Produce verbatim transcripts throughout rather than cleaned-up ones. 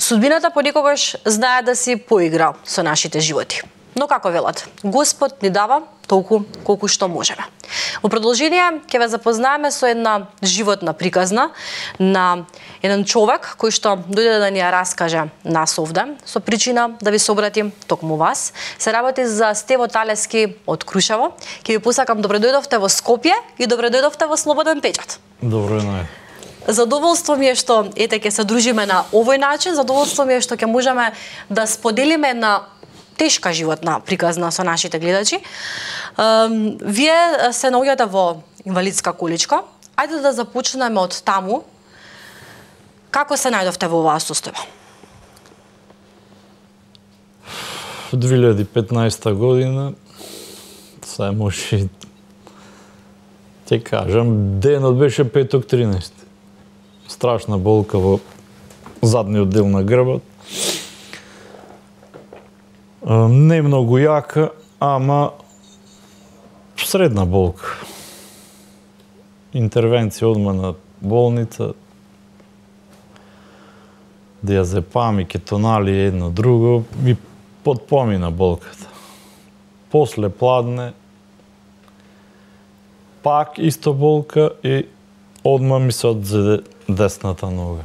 Судбината понекогаш знае да си поигра со нашите животи. Но како велат, Господ ни дава толку колку што можеме. Во продолжение ќе ве запознаеме со една животна приказна на еден човек кој што дојде да ни ја раскаже нас овде, со причина да ви се обратим токму вас. Се работи за Стево Талески од Крушево. Ќе ви посакам добре дојдовте во Скопје и добре дојдовте во Слободен печат. Добро нај. Задоволство ми е што ете ќе се дружиме на овој начин, задоволство ми е што ќе можеме да споделиме на тешка животна приказна со нашите гледачи. Вие се наоѓате во инвалидска количка. Ајде да започнеме од таму. Како се најдовте во оваа состојба? две илјади и петнаесета година, се може ќе кажам, денот беше петок тринаесети. Страшна болка во задниот дел на грбот. Не многу јака, ама средна болка. Интервенција одма на болница, диазепами, кетонали, едно друго, и потпомина болката. После пладне, пак исто болка и одма ми се одзеде десната нога.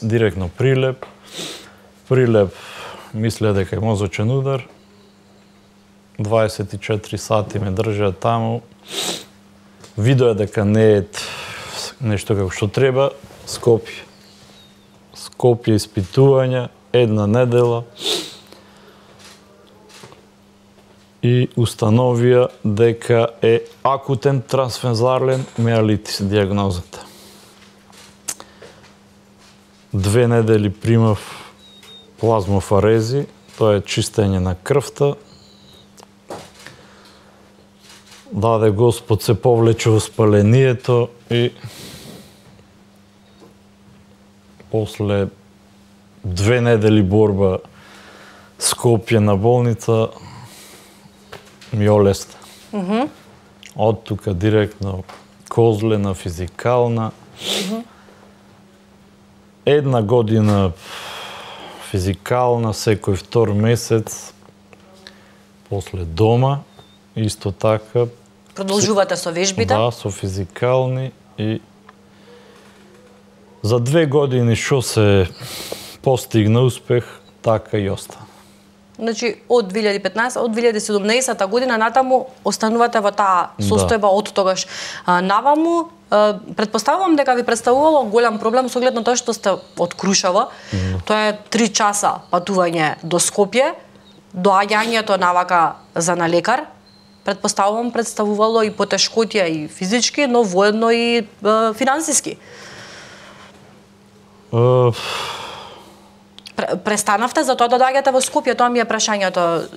Директно прилеп, прилеп мислеа дека е мозочен удар. дваесет и четири сати ме држаа таму. Видоа дека не е нешто како што треба. Скопје. Скопје испитувања, една недела. И установија дека е акутен трансфузарлен миелитис диагнозата. Две недели примав плазмофарези, тоа е чистење на крвта. Даде Господ, се повлече воспалението и после две недели борба Скопје на болница ми олесна. Mm-hmm. Од тука директно Козлена, физикална. Mm-hmm. Една година физикална, секој втор месец, после дома, исто така. Продолжувате со вежбите? Да, со физикални и за две години што се постигна успех, така и остана. Значи, од две илјади и петнаесета, од две илјади и седумнаесета година натаму останувате во таа состојба, да. Од тогаш а, наваму. А, предпоставувам дека ви представувало голем проблем со оглед на тоа што сте од Крушево. Mm. Тоа е три часа патување до Скопје, доаѓањето навака за на лекар. Предпоставувам представувало и потешкотија и физички, но воедно и е, финансиски. Uh... Престанавте за тоа да доаѓате во Скопје, тоа ми е прашањето.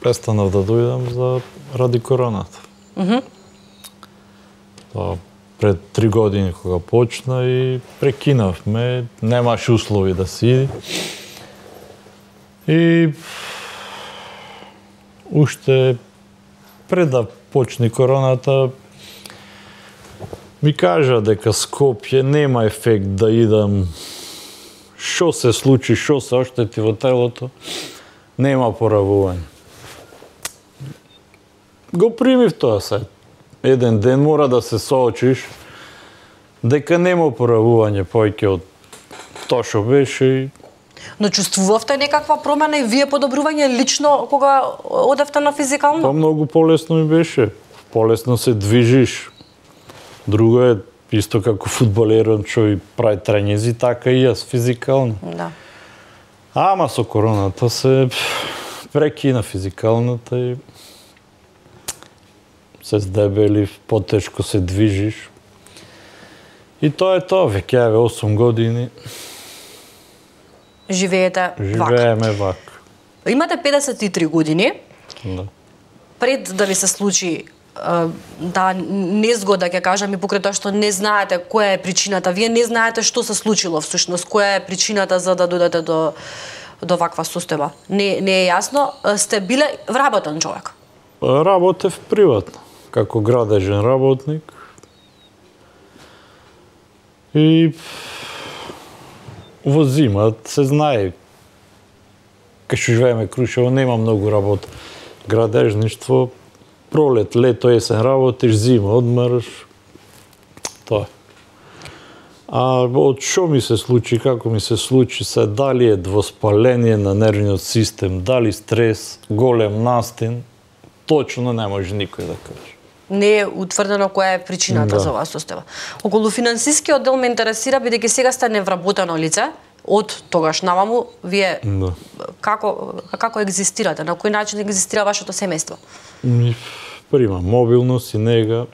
Престанав да дојдам за ради короната. Mm-hmm. Тоа пред три години кога почна и прекинавме, немаше услови да си иди. И уште пред да почне короната ми кажа дека Скопје нема ефект да идам. Што се случи, што се оштети во телото, нема поравување. Го примив тоа се. Еден ден мора да се соочиш дека нема поравување повеќе од тоа што беше. Но чувствувавте некаква промена и вие подобрување лично кога одевте на физикално? Па многу полесно ми беше. Полесно се движиш. Друго е исто како фудбалерот што прави тренези, така и јас физикално. Да. Ама со короната се прекина физикалната и се здебелив, потешко се движиш. И тоа е тоа, веќе еве осум години. Живеете вак. Живееме вак. Имате педесет и три години. Да. Пред да ви се случи да незгода, ќе кажам, и покрај тоа што не знаете која е причината, вие не знаете што се случило всушност, која е причината за да дојдете до до ваква состојба. Не не е јасно, сте биле вработен човек. Работев приватно, како градежен работник. И во зима се знае, кај што живееме Крушево, нема многу работа. Градежништво, пролет, лето, есен работиш, зима одмараш. Тоа. А од што ми се случи, како ми се случи, се дали е воспаление на нервниот систем, дали стрес, голем настин, точно не може никој да каже. Не е утврдено која е причината Да. за оваа состојба. Околу финансискиот дел ме интересира, бидејќи сега сте невработено лице, од тогаш наваму, вие Да. како, како екзистирате, на кој начин екзистира вашето семејство? Ми прима мобилност и нега,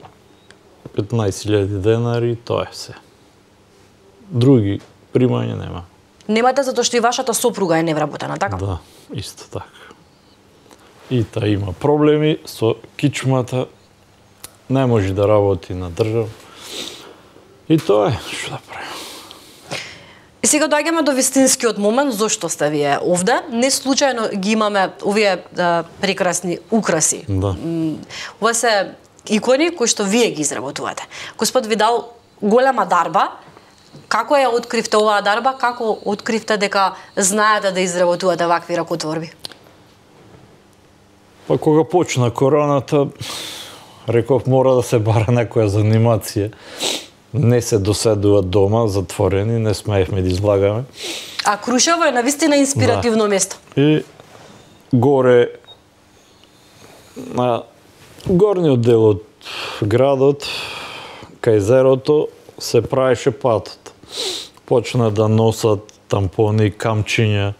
петнаесет илјади денари, тоа е се. Други примања нема. Немате затоа што и вашата сопруга е невработена, така? Да, исто така. И та има проблеми со кичмата, не може да работи на држава. И тоа е, што да правим. И сега доаѓаме до вистинскиот момент, зошто сте вие овде. Не случајно ги имаме овие а, прекрасни украси. Да. Ова се икони кои што вие ги изработувате. Господ ви дал голема дарба. Како ја откривте оваа дарба? Како откривте дека знаете да изработувате вакви ракотворби? Па кога почна короната, реков мора да се бара некоја занимација. Не се доседува дома, затворени, не смеевме да излагаме. А Крушево е навистина инспиративно Да. место. И горе на горниот дел од градот, кај езерото, се правеше патот. Почна да носат тампони, камчиња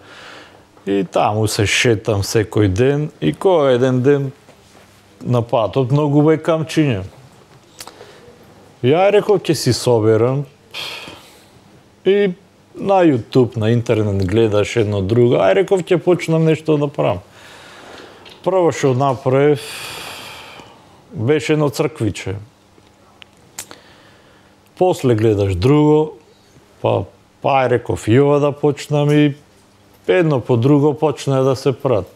и таму се шетам секој ден и кога еден ден на патот многу бе камчиња. Ја реков ќе си соберам и на YouTube, на интернет гледаш едно друго, ај реков ќе почнам нешто да правам. Прво што направив беше едно црквиче. После гледаш друго, па па реков и ова да почнам и едно по друго почна да се прат.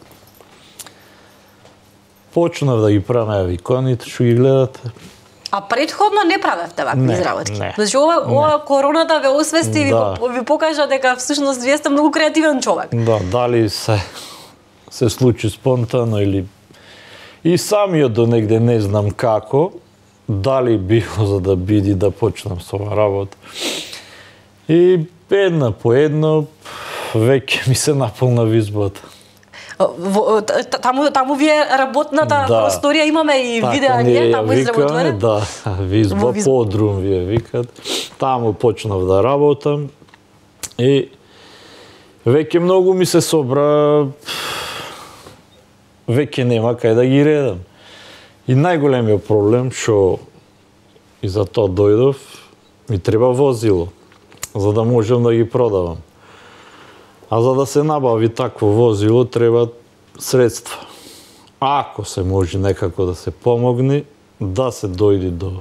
Почнав да ги правам иконите што ги гледате. А предходно не правевте вакви Не, изработки. не, Значи ова, не. ова короната ве освести и Да. ви, ви покажа дека всушност вие сте многу креативен човек. Да, дали се се случи спонтано или и самиот до негде не знам како, дали било за да биди да почнам со оваа работа. И една по едно веќе ми се наполна визбата. Во- т- Таму, таму ви е работната Да. просторија, имаме и видеа ние ние, ја таму изработуване. Да, визба, Во визба. подрум вие викат. Таму почнав да работам и веќе многу ми се собра, веќе нема кај да ги редам. И најголемиот проблем што и за тоа дојдов, ми треба возило за да можам да ги продавам. А за да се набави такво возило треба средства. Ако се може некако да се помогне, да се дојде до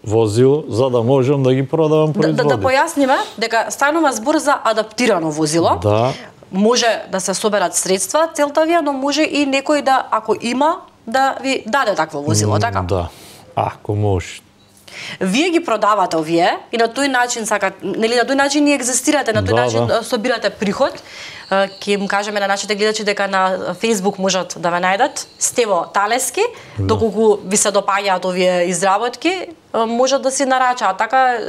возило, за да можам да ги продавам Да, производи. да, да појасниме дека станува збор за адаптирано возило. Да, Може да се соберат средства, целта ви е, но може и некој да, ако има, да ви даде такво возило, така? да. Ако може. Вие ги продавате овие и на тој начин сакат, нели на тој начин и екзистирате, на тој Да, начин да. собирате приход. Е, Ќе им кажеме на нашите гледачи дека на Facebook можат да ве најдат Стево Талески, Да. доколку ви се допаѓаат овие изработки, е, можат да си нарачаат. Така е,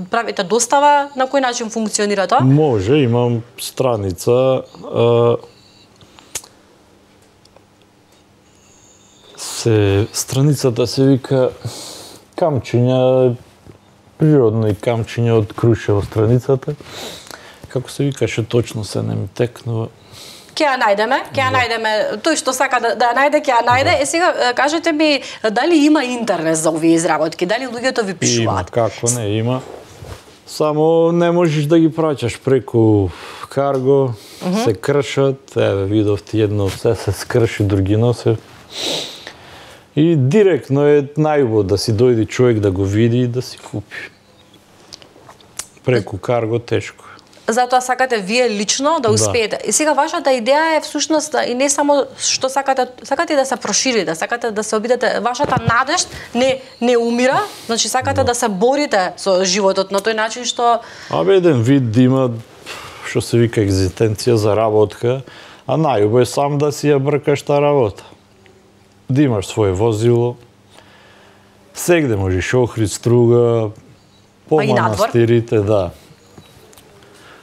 правите достава, на кој начин функционира тоа? Може, имам страница. А, се страницата се вика камчиња, природни камчиња од Крушево страницата. Како се викаше точно, се не ми текнува. Ќе ја најдеме, ќе ја најдеме, тој што сака да, да ја најде, ќе ја најде. Е сега е, кажете ми дали има интерес за овие изработки, дали луѓето ви Има, пишуваат? како не, има. Само не можеш да ги праќаш преку карго, се кршат, еве видовте едно се се скрши, други носе. И директно е најубаво да си дојде човек да го види и да си купи. Преку карго тешко е. Затоа сакате вие лично да успеете. И сега вашата идеја е всушност и не само што сакате, сакате да се проширите, сакате да се обидете, вашата надеж не не умира, значи сакате да се борите со животот на тој начин што Абе еден вид да има што се вика екзистенција, заработка, а најубаво е сам да си ја бркаш таа работа. Да имаш своје возило, сегде можеш Охрид, Струга, по манастирите, да.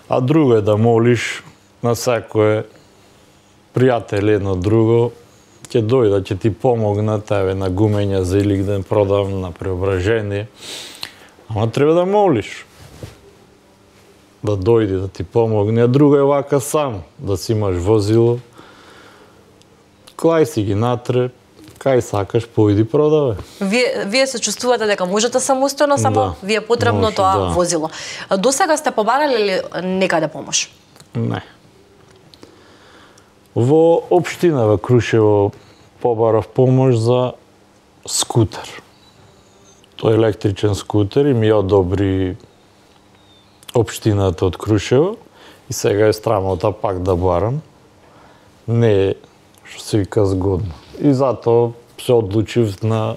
А друго е да молиш на секое пријател едно друго, ќе дојде, ќе ти помогна тебе на гумење за Илигден продавам, на преображение. Ама треба да молиш. Да дојде да ти помогне, а друго е вака сам, да си имаш возило, клај си ги натре, кај сакаш, поиди продавај. Вие, вие се чувствувате дека можете самостојно, само да, ви е потребно може, тоа да. возило. Досега сте побарали ли некаде помош? Не. Во општина во Крушево побарав помош за скутер. Тој електричен скутер и ми одобри општината од Крушево и сега е страмота пак да барам. Не е, што се вика, згодно. И затоа се одлучив на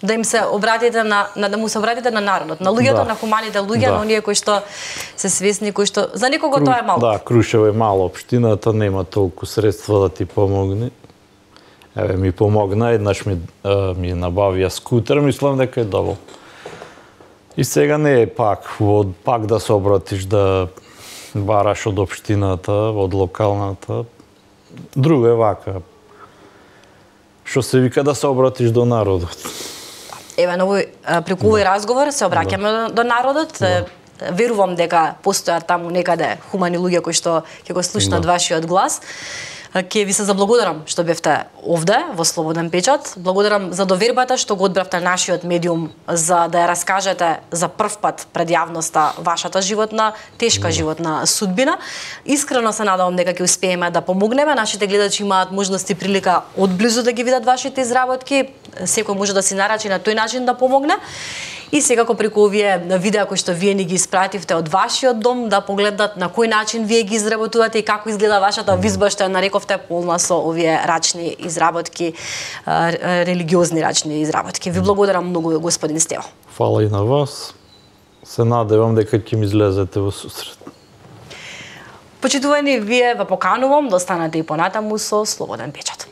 да им се обратите на, на да му се обратите на народот, на луѓето, да. на хуманите луѓе, да. на оние кои што се свесни, кои што за некого Кру... тоа е малку. Да, Крушево е мала општината, нема толку средства да ти помогне. Еве ми помогна, еднаш ми а, ми набавија скутер, мислам дека е добро. И сега не е пак од пак да се обратиш да бараш од општината, од локалната. Друго е вака. Што се вика да се обратиш до народот. Еве, на овој преку овој разговор се обраќаме да. до народот. Да. Верувам дека постојат таму некаде хумани луѓе кои што ќе го слушнат да. вашиот глас. Ќе ви се заблагодарам што бевте овде во Слободен печат. Благодарам за довербата што го одбравте нашиот медиум за да ја раскажете за прв пат пред јавноста вашата животна, тешка животна судбина. Искрено се надевам дека ќе успееме да помогнеме. Нашите гледачи имаат можност и прилика одблизу да ги видат вашите изработки. Секој може да си нарачи на тој начин да помогне. И секако преку овие видеа кои што вие ни ги испративте од вашиот дом да погледнат на кој начин вие ги изработувате и како изгледа вашата визба што ја нарековте полна со овие рачни изработки, религиозни рачни изработки. Ви благодарам многу, господин Стево. Фала и на вас. Се надевам дека ќе ми излезете во сусрет. Почитувани, вие ве поканувам да останете и понатаму со Слободен печат.